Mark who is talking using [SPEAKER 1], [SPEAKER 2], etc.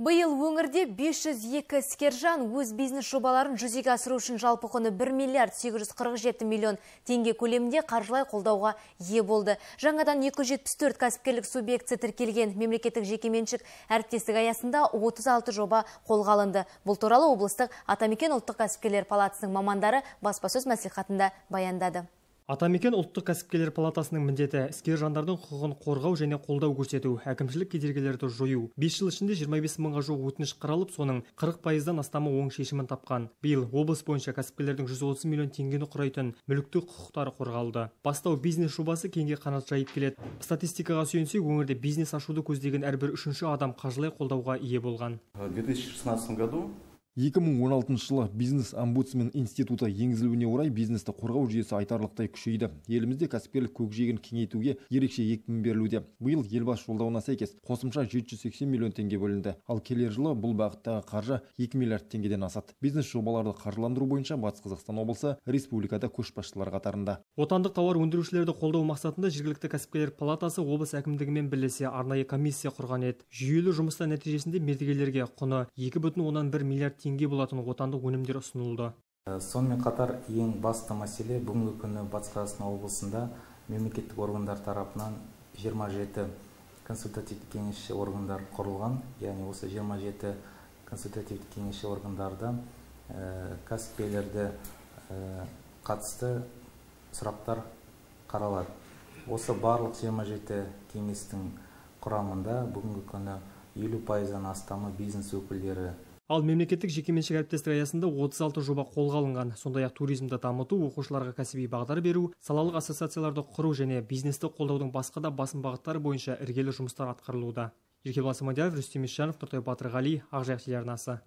[SPEAKER 1] Биыл өңірде 502 іскержан өз бизнес жобаларын жүзеге асыру үшін жалпы құны 1 миллиард 847 миллион теңге көлемінде қаржылай қолдауға ие болды. Жаңадан 274 кәсіпкерлік субъектісі тіркелген мемлекеттік жекеменшік әріптестік аясында 36 жоба қолға алынды. Бұл туралы облыстық Атамекен ұлттық кәсіпкерлер палатасының мамандары баспасөз мәслихатында баяндады.
[SPEAKER 2] Атамекен ұлттық кәсіпкерлер палатасының міндеті іскер жандардың құқығын қорғау және қолдау көрсету, әкімшілік кедергілерді жою. 5 жыл ішінде 25 мыңға жуық өтініш қаралып, соның 40%-дан астамы оң шешімін тапқан. Биыл облыс бойынша кәсіпкерлердің 130 миллион теңгені құрайтын мүліктік құқықтары қорғалды. Бастау бизнес жобасы кеңге қанат жайып келеді. Статистикаға сүйенсек, өңірде бизнес ашуды көздеген әрбір үшінші адам қаржылай қолдауға ие болған.
[SPEAKER 3] В 2016 году
[SPEAKER 4] 2016 жылы бизнес-омбудсмен институты енгізілуіне орай бизнесті қорғау жүйесі айтарлықтай күшейді. Елімізде кәсіпкерлік көкжиегін кеңейтуге ерекше екпін берілуде. Биыл елбасы жолдауына сәйкес қосымша 780 миллион теңге бөлінді. Ал келер жылы бұл бағыттағы қаржы 2 миллиард теңгеден асады. Бизнес жобаларды қаржыландыру бойынша Батыс Қазақстан облысы республикада көшбасшылар қатарында.
[SPEAKER 2] Отандық тауар өндірушілерді қолдау мақсатында жергілікті кәсіпкерлер палатасы облыс әкімдігімен бірлесе арнайы комиссия құрған еді. Жүйелі жұмыстар нәтижесінде мердігерлерге құны 2,1 миллиард теңге болатын отандық өнімдер ұсынылды.
[SPEAKER 5] Сонымен қатар ең басты мәселе бүгінгі күні Батыс Қазақстан облысында мемлекеттік органдар тарапынан 27 консультативтік кеңесші органдар құрылған. Яғни осы 27 консультативтік кеңесші органдарда кәсіпкерлерді қатысты сұрақтар қаралады. Осы барлық 27 кеңестің құрамында бүгінгі күні 50%-дан астамы бизнес өкілдері.
[SPEAKER 2] Ал мемлекеттік жекеменшік әріптестік аясында 36 жоба қолға алынған. Сондай-ақ туризмді дамыту, оқушыларға кәсіби бағдар беру, салалық ассоциацияларды құру және бизнесті қолдаудың басқа да басым бағыттары бойынша іргелі жұмыстар атқарылуда. Еркебұлан Самадияров, Рүстем Исжанов, Нұртай Батырғали, Ақжайық телеарнасы.